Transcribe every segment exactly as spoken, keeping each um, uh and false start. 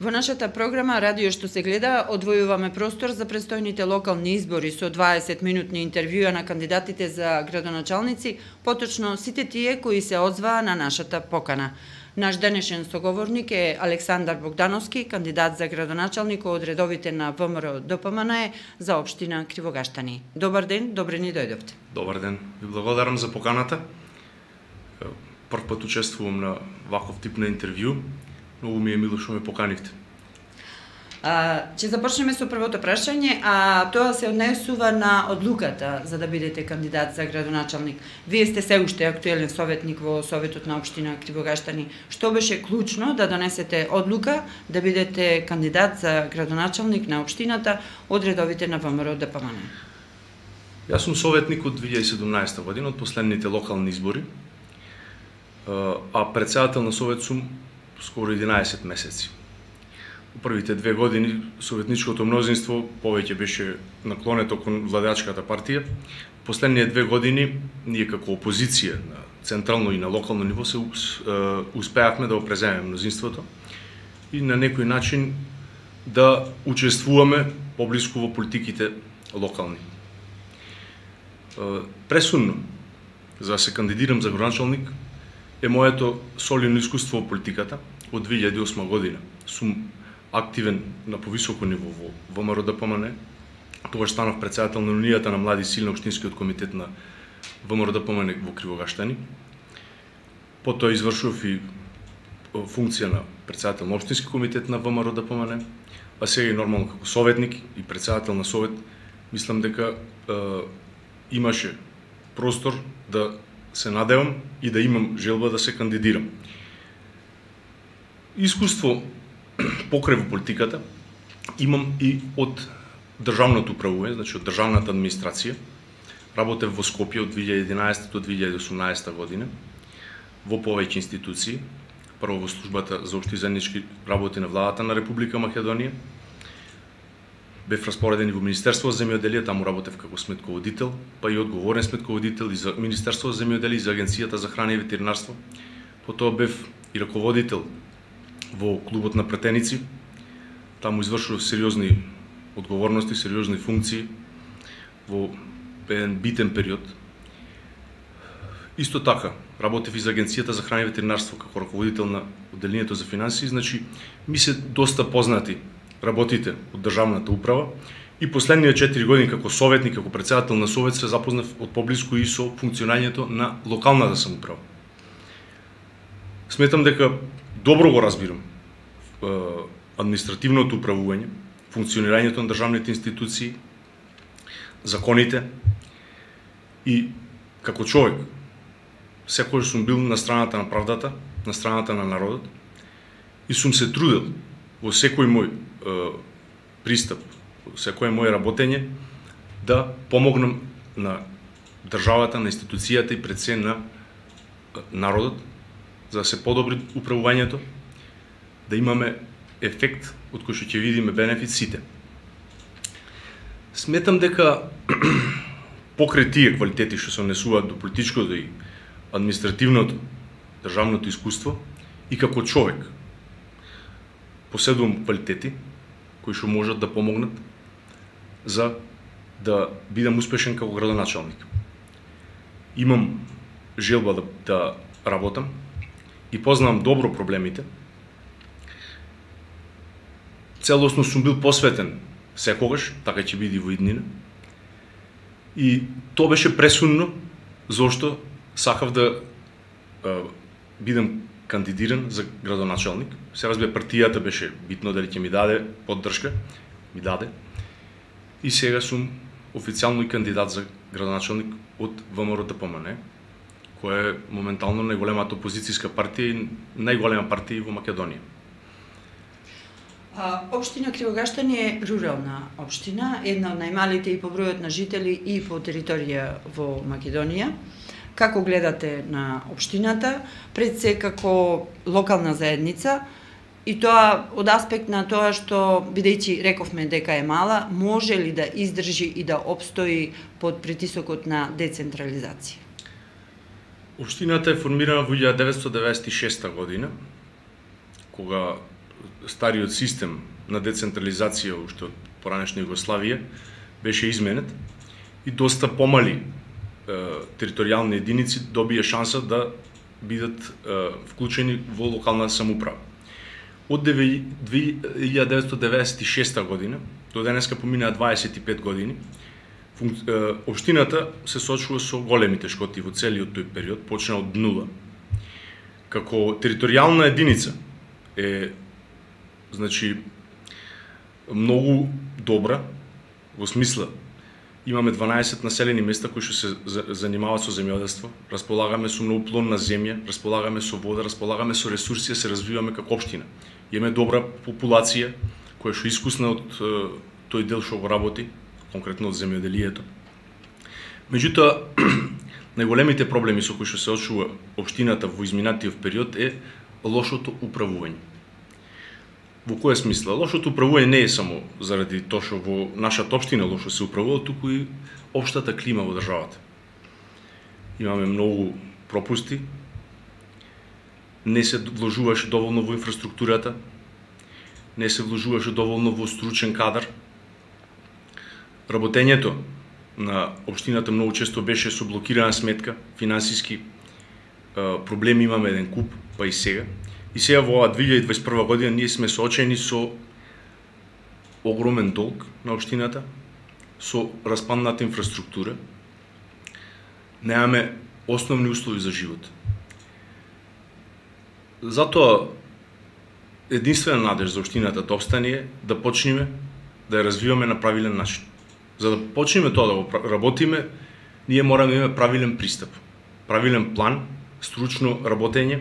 Во нашата програма Радио што се гледа одвојуваме простор за престојните локални избори со дваесет минутни интервјуа на кандидатите за градоначалници, поточно сите тие кои се озваа на нашата покана. Наш денешен соговорник е Александар Богдановски, кандидат за градоначалник од редовите на ВМРО Д П М Н за општина Кривогаштани. Добар ден, добре ни дојдовте. Добар ден, ви благодарам за поканата. Прв пат учествувам на ваков тип на интервју. Многу ми е мило што ме поканивте. А, ќе започнеме со првото прашање, а тоа се однесува на одлуката за да бидете кандидат за градоначалник. Вие сте се уште актуелен советник во Советот на општина Кривогаштани. Што беше клучно да донесете одлука да бидете кандидат за градоначалник на општината од редовите на ВМРО Д П М Н? Јас сум советник од две илјади и седумнаесета година, од последните локални избори, а председател на совет сум скоро единаесет месеци. Во првите две години советничкото мнозинство повеќе беше наклонето кон владеачката партија. Последните две години ние како опозиција на централно и на локално ниво се успеавме да опреземеме мнозинството и на некој начин да учествуваме поблиску во политиките локални. Пресудно за да се кандидирам за градоначалник е моето солидно искуство во политиката. Од две илјади и осма година сум активен на повисоко ниво во ВМРО Д П М Н. Тогаш станав председател на Унијата на млади сили на општинскиот комитет на ВМРО Д П М Н во Кривогаштани. Потоа извршував и функција на председател на општински комитет на ВМРО Д П М Н, а сега и нормално како советник и председател на совет. Мислам дека е, имаше простор да се надевам и да имам желба да се кандидирам. Искуство покрај во политиката имам и од државното управување, значи од државната администрација. Работев во Скопје од две илјади и единаесета до две илјади и осумнаесета година во повеќе институции. Прво во службата за општи заеднички работи на владата на Република Македонија. Бев распореден и во Министерство за земјоделие, таму работев како сметководител, па и одговорен сметководител и за Министерство за земјоделие и за Агенцијата за храна и ветеринарство. Потоа бев и раководител во клубот на пратеници. Таму извршував сериозни одговорности, сериозни функции во еден битен период. Исто така, работев и за Агенцијата за храна и ветеринарство како раководител на одделението за финансии, значи ми се доста познати работите од државната управа и последните четири години како советник, како председател на совет се запознав од поблиску и со функционирањето на локалната самоуправа. Сметам дека добро го разбирам е, административното управување, функционирањето на државните институции, законите и како човек секогаш сум бил на страната на правдата, на страната на народот и сум се трудел во секој мој е, пристап, во секој мој работење да помогнам на државата, на институцијата и пред се на народот, за да се подобри управувањето, да имаме ефект од кој што ќе видиме бенефит сите. Сметам дека покрај тие квалитети што се однесуваат до политичкото и административното, државното искуство и како човек поседувам квалитети кои што можат да помогнат за да бидам успешен како градоначалник. Имам желба да, да работам и познавам добро проблемите. Целосно сум бил посветен секогаш, така ќе биде во иднина. И тоа беше пресудно зошто сакав да е, бидам кандидиран за градоначалник. Се разбира, партијата беше битно дали ќе ми даде поддршка, ми даде. И сега сум официјално и кандидат за градоначалник од ВМРО Д П М Н, која е моментално најголемата опозицијска партија и најголема партија во Македонија. А, општина Кривогаштани е рурална општина, една од најмалите и по бројот на жители и по територија во Македонија. Како гледате на општината, пред се како локална заедница, и тоа од аспект на тоа што, бидејќи рековме дека е мала, може ли да издржи и да обстои под притисокот на децентрализација? Општината е формирана во илјада деветстотини деветдесет и шеста година, кога стариот систем на децентрализација уште од поранешна Југославија беше изменет и доста помали е, територијални единици добија шанса да бидат е, вклучени во локална самоуправа. Од две илјади деветстотини деветдесет и шеста година до денеска поминаа дваесет и пет години, општината се соочува со големи тешкоти во целиот тој период, почна од нула. Како територијална единица е, значи, многу добра, во смисла, имаме дванаесет населени места кои што се занимаваат со земјоделство, располагаме со многу плодна земја, располагаме со вода, располагаме со ресурси, се развиваме како општина. Имаме добра популација која што искусна од тој дел што го работи, конкретно од земјоделието. Меѓутоа, најголемите проблеми со кои што се соочува општината во изминатиот период е лошото управување. Во која смисла? Лошото управување не е само заради тоа што во нашата општина лошо се управува, туку и општата клима во државата. Имаме многу пропусти, не се вложуваше доволно во инфраструктурата, не се вложуваше доволно во стручен кадар. Работењето на општината многу често беше со блокирана сметка, финансиски проблеми имаме еден куп, па и сега. И сега во оваа две илјади дваесет и прва година ние сме соочени со огромен долг на општината, со распадната инфраструктура, немаме основни услови за живот. Затоа единствена надеж за општината да опстане е да почнеме да ја развиваме на правилен начин. За да почнеме тоа да го работиме, ние мораме да имаме правилен пристап, правилен план, стручно работење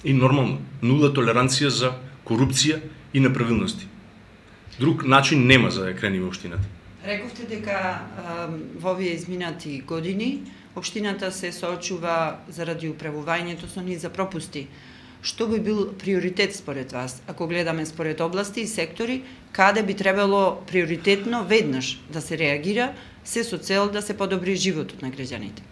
и нормално, нула толеранција за корупција и неправилности. Друг начин нема за да ја кренеме општината. Рековте дека во овие изминати години општината се соочува заради управувањето со низ за пропусти. Што би бил приоритет според вас, ако гледаме според области и сектори, каде би требало приоритетно веднаш да се реагира, се со цел да се подобри животот на граѓаните?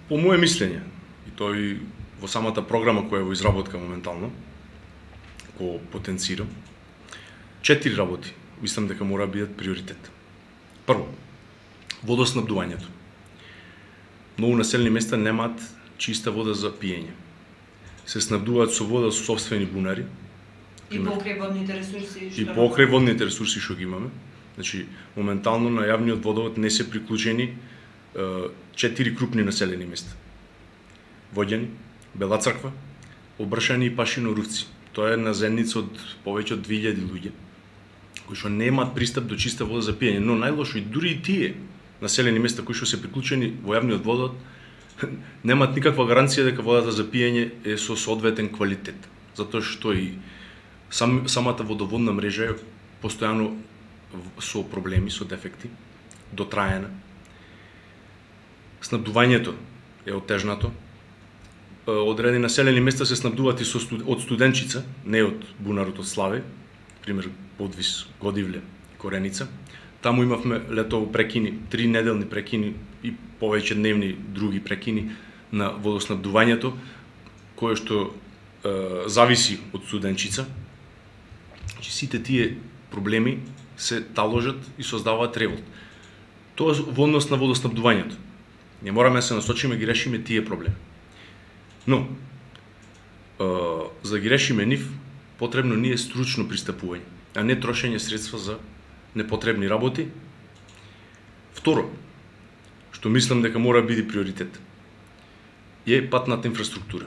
По моje мислење, и тој во самата програма која е во изработка моментално, го потенцирам, четири работи мислам дека мора да бидат приоритет. Прво, водоснабдувањето. Многу населени места немаат чиста вода за пиење. Се снабдуваат со вода со сопствени бунари. И покрај водните ресурси што И покрај водните ресурси што ги имаме. Значи, моментално на јавниот водовод не се приклучени четири крупни населени места. Воѓани, Бела Црква, Обршани и Пашино-Рувци. Тоа е една заедница од повеќе од две илјади луѓе кои што немаат пристап до чиста вода за пиење, но најлошо и дури и тие населени места кои што се приклучени во јавниот водовод немаат никаква гаранција дека водата за пиење е со соодветен квалитет, затоа што и сам, самата водоводна мрежа е постојано со проблеми, со дефекти, дотраена. Снабдувањето е отежнато. Одредени населени места се снабдуваат и со студ... од Студенчица, не од бунарот од Славе, пример Подвис, Годивле, Кореница. Таму имавме летово прекини, три неделни прекини и повеќе дневни други прекини на водоснабдувањето, кое што е, зависи од Студенчица. Значи, сите тие проблеми се таложат и создаваат револт. Тоа во однос на водоснабдувањето. Не мораме да се насочиме ги решиме тие проблеми. Но, е, за да ги решиме нив, потребно ни е стручно пристапување, а не трошење средства за непотребни работи. Второ, што мислам дека мора да биде приоритет, е патната инфраструктура.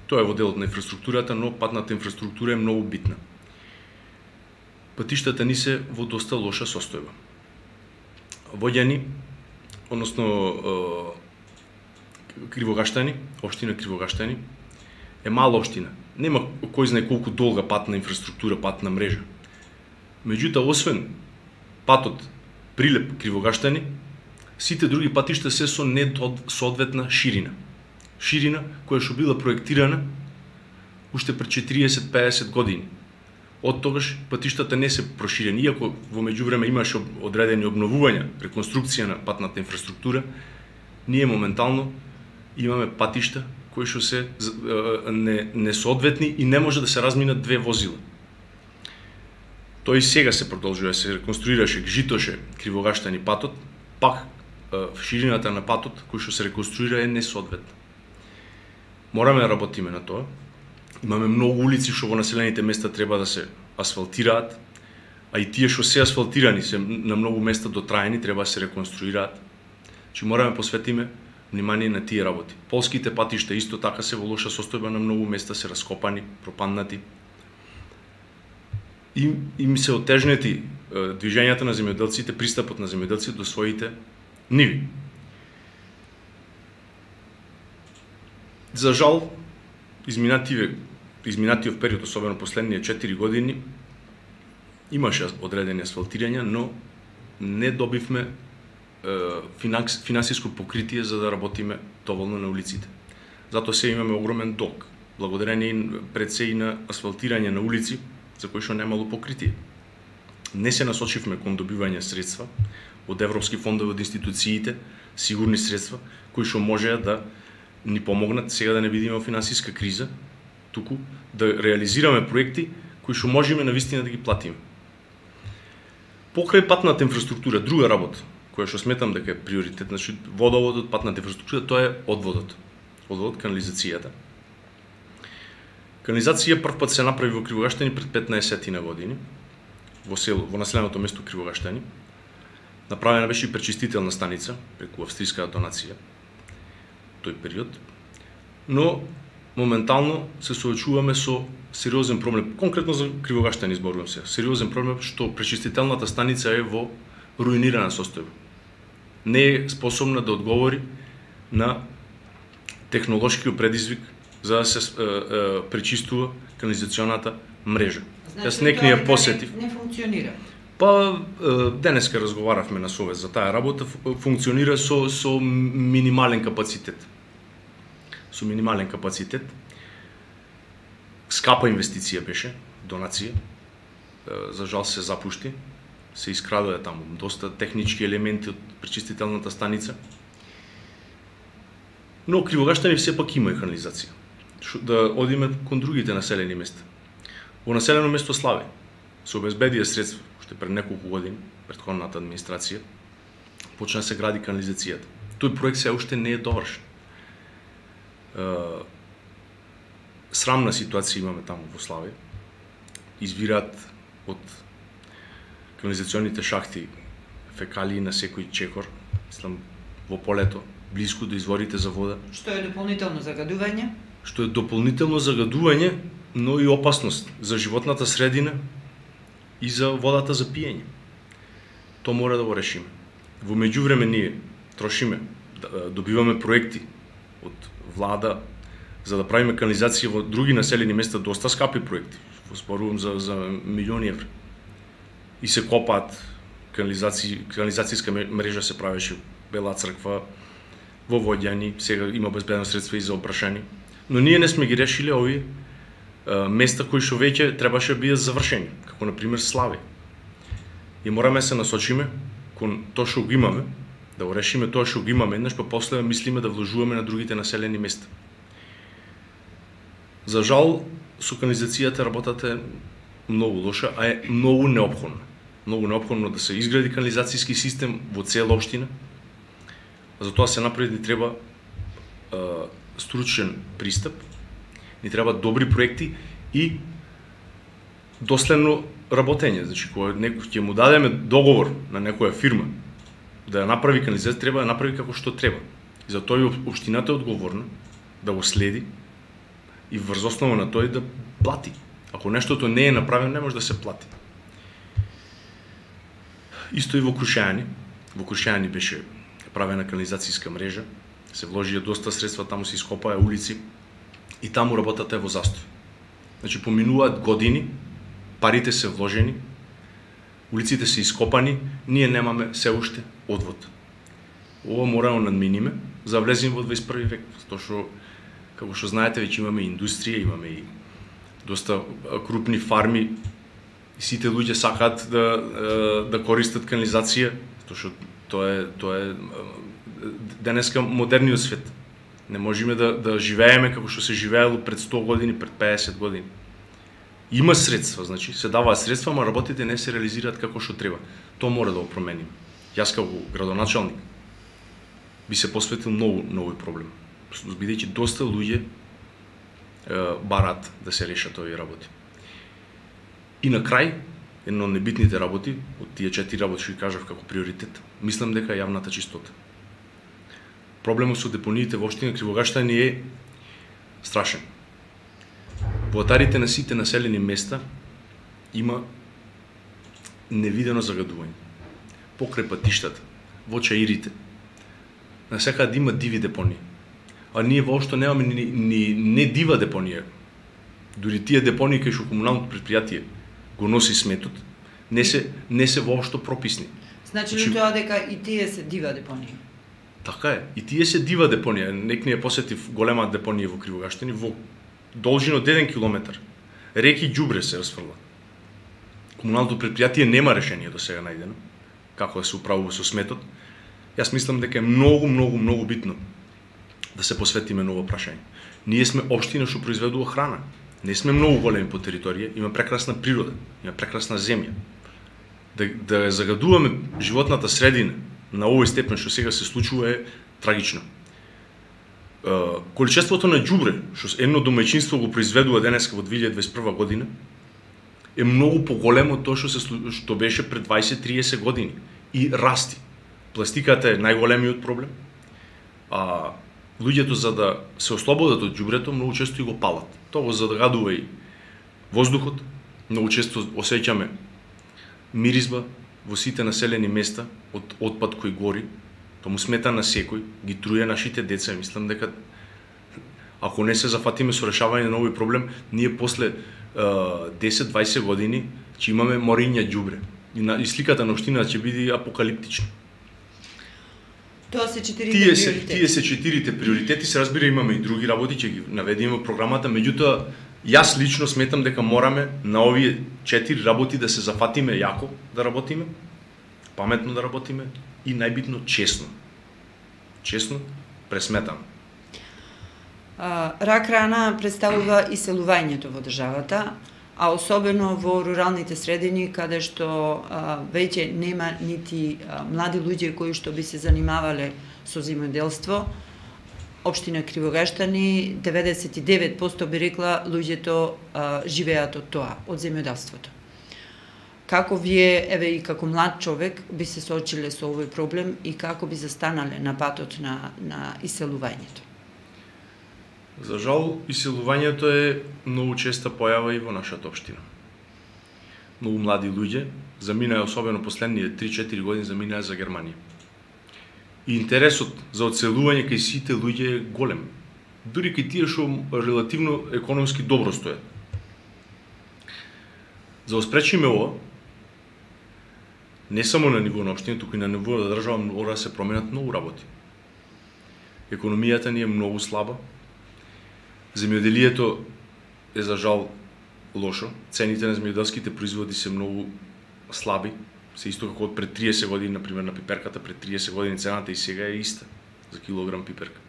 Тоа е во делот на инфраструктурата, но патната инфраструктура е многу битна. Патиштата ни се во доста лоша состојба. Воѓани, односно Кривогаштани, општина Кривогаштани, е мала општина. Нема кој знае колку долга патна инфраструктура, патна мрежа. Меѓутоа, освен патот Прилеп Кривогаштани, сите други патишта се со несоодветна ширина. Ширина која што била проектирана уште пред четириесет до пеесет години. Од тогаш патиштата не се проширени, иако во меѓувреме имаше одредени обновувања, реконструкција на патната инфраструктура, ние моментално имаме патишта кои што се не, несоодветни и не може да се разминат две возила. Тој сега се продолжува, се реконструираше, житоше Кривогаштани патот, пак ширината на патот кој што се реконструира е несоодветна. Мораме да работиме на тоа. Имаме многу улици што во населените места треба да се асфалтираат, а и тие што се асфалтирани се на многу места дотраени, треба да се реконструираат. Чи мораме посветиме внимание на тие работи. Полските патишта исто така се во лоша состојба, на многу места се раскопани, пропаднати. И им се отежнети движењата на земјоделците, пристапот на земјоделците до своите ниви. За жал, изминативе изминатиот период, особено последние четири години, имаше одредени асфалтирања, но не добивме финанс, финансиско покритие за да работиме доволно на улиците. Затоа се имаме огромен долг, благодарение пред се и на асфалтирање на улици, за кои што немало покритие. Не се насочивме кон добивање средства од европски фондови, од институциите, сигурни средства, кои што можеа да ни помогнат сега да не бидеме во финансиска криза, туку да реализираме проекти кои што можеме навистина да ги платиме. Покрај патната инфраструктура, друга работа, која што сметам дека е приоритет, значи водоводот, патната инфраструктура, тоа е одводот. Одводот, канализацијата. Канализација прв пат се направи во Кривогаштани пред петнаесет години, во село, во населеното место Кривогаштани. Направена беше и пречистителна станица преку австријска донација тој период. Но моментално се соочуваме со сериозен проблем, конкретно за Кривогаштани зборувам се. Сериозен проблем што пречистителната станица е во руинирана состојба. Не е способна да одговори на технолошкиот предизвик за да се е, е, пречистува канализационата мрежа. Значи, Јас некни ја посетив. Не, не функционира. Па е, денеска разговаравме на совет за таа работа, функционира со со минимален капацитет. Со минимален капацитет. Скапа инвестиција беше, донација. Е, за жал се запушти. Се искрадоа таму доста технички елементи од пречистителната станица. Но Кривогаштани сепак има и канализација. Шо, да одиме кон другите населени места. Во населено место Славе се обезбедија средства, уште пред неколку години, претходната администрација, почна се гради канализацијата. Тој проект се уште не е довршен. Срамна ситуација имаме таму во Славе. Извираат од канализационните шахти фекалии на секој чекор, мислам во полето, близко до изворите за вода. Што е дополнително загадување? Што е дополнително загадување, но и опасност за животната средина и за водата за пиење. Тоа мора да го решиме. Во меѓувреме ние трошиме, добиваме проекти од влада за да правиме канализација во други населени места, доста скапи проекти. Зборувам за за милиони евра. И се копаат канализација, канализацијска мрежа се правеше Бела црква, во Воѓани, сега има безбедно средства и за опрашани. Но ние не сме ги решиле овие места кои што веќе требаше да бидат завршени, како на пример Славе. И мораме се насочиме кон тоа што го имаме, да го решиме тоа што го имаме, еднаш па после мислиме да вложуваме на другите населени места. За жал, со канализацијата работата е многу лоша, а е многу неопходна. Многу неопходно да се изгради канализацијски систем во цела општина. За тоа се направи ни треба е, стручен пристап, ни треба добри проекти и доследно работење. Значи, кога некој ќе му дадеме договор на некоја фирма да ја направи канализација, треба да направи како што треба. И за тоа и општината е одговорна да го следи и врз основа на тој да плати. Ако нештото не е направено, не може да се плати. Исто и во Крушајани. Во Крушајани беше правена канализацијска мрежа, се вложија доста средства, таму се ископаа улици и таму работата е во застој. Значи, поминуваат години, парите се вложени, улиците се ископани, ние немаме се уште одвод. Ова морamo надминиме за да влеземе во дваесет и први век, затоа што, како што знаете, веќе имаме индустрија, имаме и доста крупни фарми, и сите луѓе сакаат да да користат канализација, затоа што тоа е тоа е денеска модерниот свет. Не можеме да, да живееме како што се живеело пред сто години, пред педесет години. Има средства, значи се даваат средства, ама работите не се реализираат како што треба. Тоа мора да го промениме. Јас како градоначалник би се посветил многу на овој проблем, бидејќи доста луѓе е, барат да се решат овие работи. И на крај, едно од небитните работи, од тие четири работи што ги кажав како приоритет, мислам дека е јавната чистота. Проблемот со депониите во општина Кривограштани не е страшен. Во атарите на сите населени места има невидено загадување. Покрај патиштата, во чаирите, насекаде има диви депонии. А ние воопшто немаме ни, ни не дива депонија. Дури тие депонии кај што комуналното предпријатие го носи сметот, не се не се воопшто прописни. Значи ли тоа дека и тие се дива депонија? Така е. И тие се дива депонија. Некни ја посетив голема депонија во Кривогаштани, во должина од еден километар. Реки ѓубре се расфрла. Комуналното предпријатие нема решение до сега најдено како да се управува со сметот. Јас мислам дека е многу, многу, многу битно да се посветиме на ова прашање. Ние сме општина што произведува храна. Не сме многу големи по територија, има прекрасна природа, има прекрасна земја. Да, да загадуваме животната средина на овој степен што сега се случува е трагично. Uh, количеството на ѓубре што едно домаќинство го произведува денеска во две илјади дваесет и прва година е многу поголемо од тоа што се што беше пред дваесет до триесет години и расти. Пластиката е најголемиот проблем. А луѓето за да се ослободат од ѓубрето многу често и го палат. Тоа го загадува и воздухот. Многу често осеќаме миризба во сите населени места од отпад кој гори. Тоа му смета на секој, ги труе нашите деца. Мислам дека ако не се зафатиме со решавање на овој проблем, ние после десет до дваесет години ќе имаме мориња ѓубре. И, на, и сликата на општината ќе биде апокалиптична. Тоа се четирите тие се, приоритети. Тие се четирите приоритети, се разбира имаме и други работи, ќе ги наведеме во програмата, меѓутоа јас лично сметам дека мораме на овие четири работи да се зафатиме јако да работиме, паметно да работиме и најбитно честно. Честно, пресметано. Рак рана представува иселувањето во државата, а особено во руралните средини каде што а, веќе нема нити а, млади луѓе кои што би се занимавале со земјоделство. Општина Кривогаштани деветдесет и девет проценти би рекла луѓето а, живеат од тоа, од земјоделството. Како вие, еве и како млад човек, би се соочиле со овој проблем и како би застанале на патот на, на иселувањето? За жал, иселувањето е многу честа појава и во нашата општина. Многу млади луѓе заминаа, особено последние три-четири години, заминаа за Германија. И интересот за одселување кај сите луѓе е голем. Дури кај тие што релативно економски добро стојат. За да спречиме ова, не само на ниво на општина, туку и на ниво на држава мора да се променат многу работи. Економијата ни е многу слаба. Земјоделието е за жал лошо. Цените на земјоделските производи се многу слаби. Се исто како од пред триесет години, например, на пиперката, пред триесет години цената и сега е иста за килограм пиперка.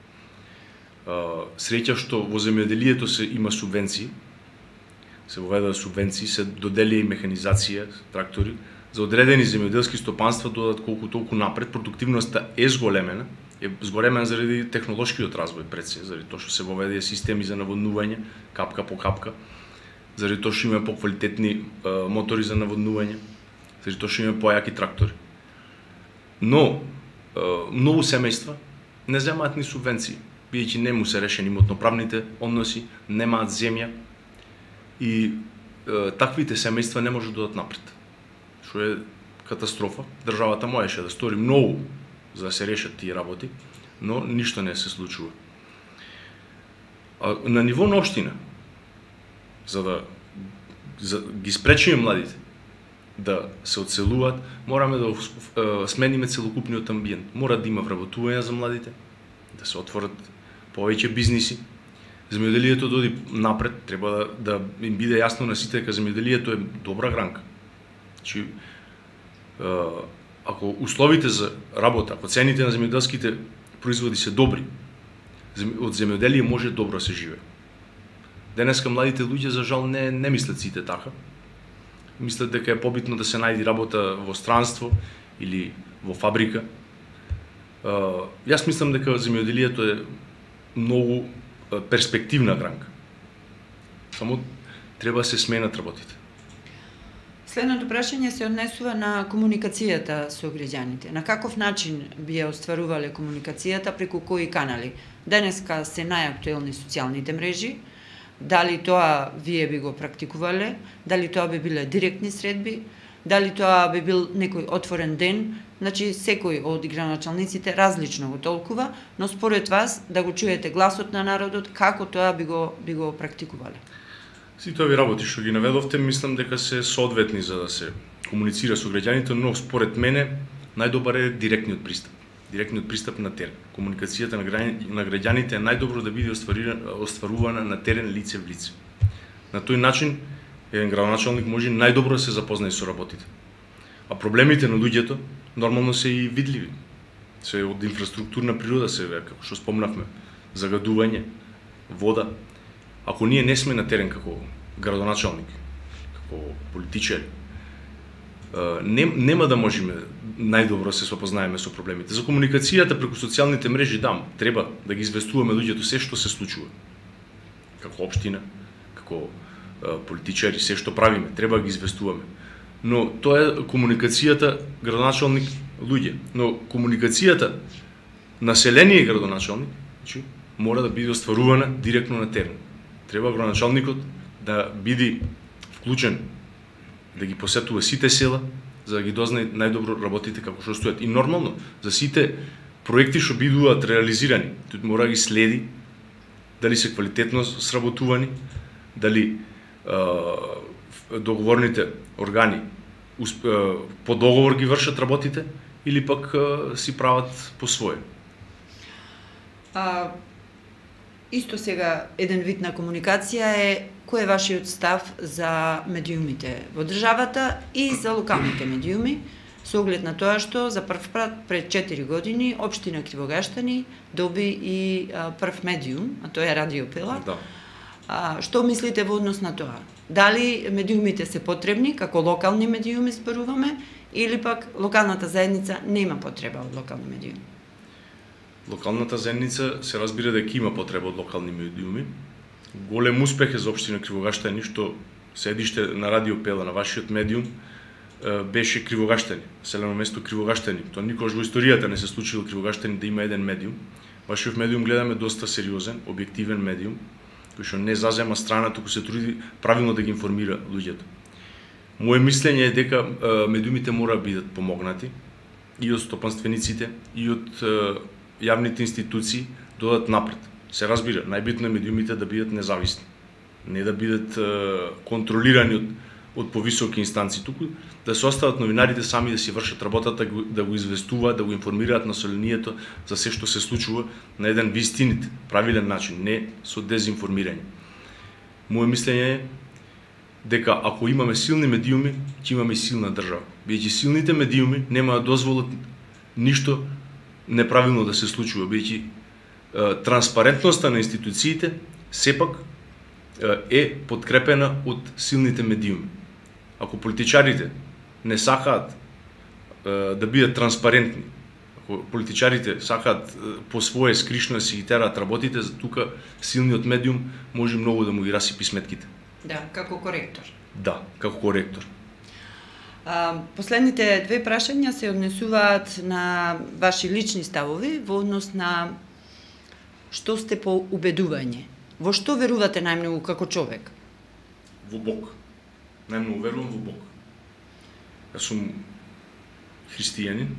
Среќа што во земјоделието се има субвенции, се воведува субвенции, се додели и механизација, трактори, за одредени земјоделски стопанства додат колку толку напред, продуктивноста е зголемена, е зголемена заради технолошкиот развој пред се, заради тоа што се воведија системи за наводнување, капка по капка, заради тоа што има поквалитетни е, мотори за наводнување, заради тоа што има појаки трактори. Но е, многу семејства не земаат ни субвенции, бидејќи не му се решени имотноправните односи, немаат земја и е, таквите семејства не можат да додат напред. Што е катастрофа. Државата можеше да стори многу за да се решат тие работи, но ништо не се случува. А на ниво на општина, за да за ги спречиме младите да се одселуваат, мораме да е, смениме целокупниот амбиент. Мора да има вработување за младите, да се отворат повеќе бизниси. Земјоделието да оди напред, треба да, да им биде јасно на сите дека земјоделието е добра гранка. Значи, ако условите за работа, ако цените на земјоделските производи се добри, од земјоделие може добро се живее. Денеска младите луѓе за жал не не мислат сите така. Мислат дека е побитно да се најде работа во странство или во фабрика. Uh, јас мислам дека земјоделието е многу uh, перспективна гранка. Само треба да се сменат работите. Следното прашање се однесува на комуникацијата со граѓаните. На каков начин би ја остварувале комуникацијата, преку кои канали? Денеска се најактуелни социјалните мрежи. Дали тоа вие би го практикувале? Дали тоа би биле директни средби? Дали тоа би бил некој отворен ден? Значи, секој од играначалниците различно го толкува, но според вас, да го чуете гласот на народот, како тоа би го, би го практикувале? Сите овие работи што ги наведовте, мислам дека се соодветни за да се комуницира со граѓаните, но според мене најдобар е директниот пристап. Директниот пристап на терен. Комуникацијата на, граѓаните, на граѓаните е најдобро да биде остварувана на терен лице в лице. На тој начин еден градоначалник може најдобро да се запознае со работите. А проблемите на луѓето нормално се и видливи. Се од инфраструктурна природа се, како што спомнавме, загадување, вода. Ако ние не сме на терен како градоначалник, како политичари, не, нема да можеме најдобро се запознаеме со проблемите. За комуникацијата преку социјалните мрежи, да, треба да ги известуваме луѓето се што се случува. Како општина, како политичари, се што правиме, треба да ги известуваме. Но тоа е комуникацијата градоначалник луѓе. Но комуникацијата население градоначалник, значи, мора да биде остварувана директно на терен. Треба градоначалникот да биде вклучен, да ги посетува сите села, за да ги дознае најдобро работите како што стојат. И нормално, за сите проекти што бидуваат реализирани, тој мора да ги следи, дали се квалитетно сработувани, дали договорните органи по договор ги вршат работите или пак си прават по своје. А, исто сега еден вид на комуникација е кој е вашиот став за медиумите во државата и за локалните медиуми, со оглед на тоа што за прв пат пред четири години општина Кривогаштани доби и а, прв медиум, а тоа е Радио Пела. Да. А, што мислите во однос на тоа? Дали медиумите се потребни, како локални медиуми зборуваме, или пак локалната заедница нема потреба од локални медиуми? Локалната заедница се разбира дека има потреба од локални медиуми. Голем успех е за општина Кривогаштани што седиште на Радио Пела, на вашиот медиум, беше Кривогаштани, селено место Кривогаштани. Тоа никогаш во историјата не се случило Кривогаштани да има еден медиум. Вашиот медиум гледаме доста сериозен, објективен медиум, кој што не зазема страна, туку се труди правилно да ги информира луѓето. Моje мислење е дека медиумите мора да бидат помогнати и од стопанствениците, и од јавните институции додат напред. Се разбира, најбитно е медиумите да бидат независни, не да бидат контролирани од од повисоки инстанции, туку да се остават новинарите сами да си вршат работата, да го известуваат, да го информираат населението за се што се случува на еден вистинит, правилен начин, не со дезинформирање. Моje мислење е дека ако имаме силни медиуми, ќе имаме и силна држава. Бидејќи силните медиуми нема да дозволат ништо неправилно да се случува, бидејќи транспарентноста на институциите сепак е подкрепена од силните медиуми. Ако политичарите не сакаат да бидат транспарентни, ако политичарите сакаат по своје скришно да си ги тераат работите, тука силниот медиум може многу да му ги расипи сметките. Да, како коректор. Да, како коректор. А, последните две прашања се однесуваат на ваши лични ставови во однос на што сте по убедување. Во што верувате најмногу како човек? Во Бог. Најмногу верувам во Бог. Јас сум христијанин.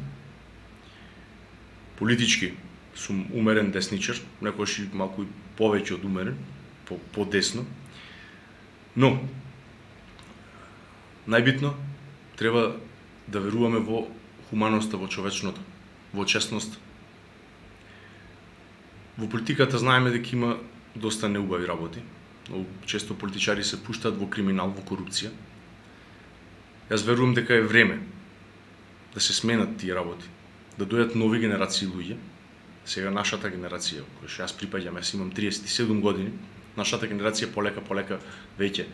Политички сум умерен десничар, некојаш и малку повеќе од умерен, по, по десно. Но најбитно треба да веруваме во хуманоста, во човечното, во честност. Во политиката знаеме дека има доста неубави работи. Но често политичари се пуштаат во криминал, во корупција. Јас верувам дека е време да се сменат тие работи, да дојдат нови генерации луѓе, Сега нашата генерација, која што јас припаѓам, јас имам триесет и седум години, нашата генерација полека полека веќе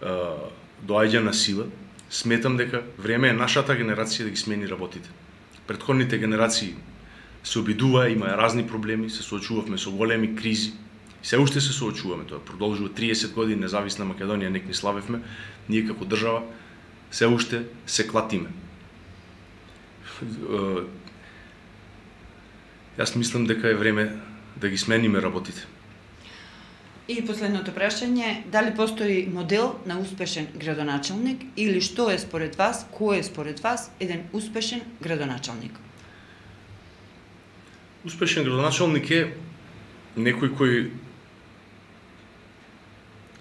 доаѓа на сила. Сметам дека време е нашата генерација да ги смени работите. Претходните генерации се обидуваа, имаа разни проблеми, се соочувавме со големи кризи. Се уште се соочуваме, тоа продолжува триесет години независна Македонија, нек ни славевме, ние како држава се уште се клатиме. Јас мислам дека е време да ги смениме работите. И последното прашање, дали постои модел на успешен градоначалник или што е според вас, кој е според вас еден успешен градоначалник? Успешен градоначалник е некој кој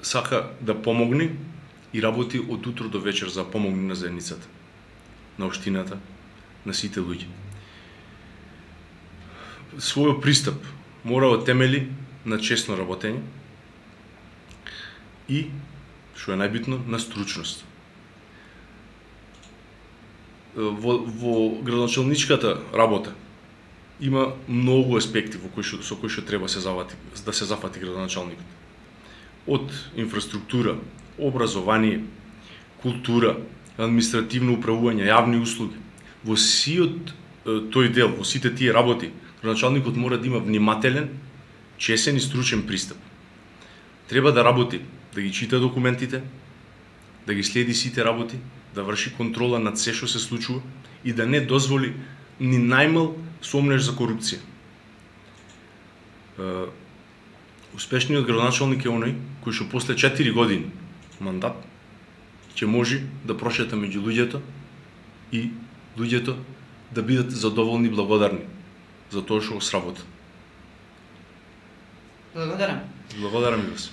сака да помогне и работи од утро до вечер за помогне на заедницата, на општината, на сите луѓе. Својот пристап мора да темели на честно работење и, што е најбитно, на стручност. Во, во градоначалничката работа има многу аспекти во кои што, со кои што треба се завати, да се зафати градоначалникот. Од инфраструктура, образование, култура, административно управување, јавни услуги. Во сиот тој дел, во сите тие работи, градоначалникот мора да има внимателен, чесен и стручен пристап. Треба да работи, да ги чита документите, да ги следи сите работи, да врши контрола над се што се случува и да не дозволи ни најмал сомнеж за корупција. Успешниот градоначалник е оној кој што после четири години мандат ќе може да прошета меѓу луѓето и луѓето да бидат задоволни и благодарни за тоа што сработа. Благодарам. Благодарам ви вас.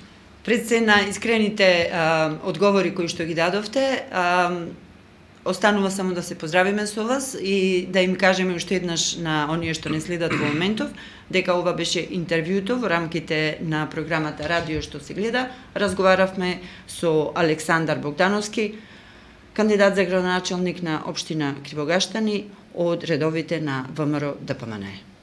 Пред се на искрените а, одговори кои што ги дадовте, а, останува само да се поздравиме со вас и да им кажеме уште еднаш на оние што не следат во моментов, дека ова беше интервјуто во рамките на програмата Радио што се гледа. Разговаравме со Александар Богдановски, кандидат за градоначалник на општина Кривогаштани од редовите на ВМРО ДПМН.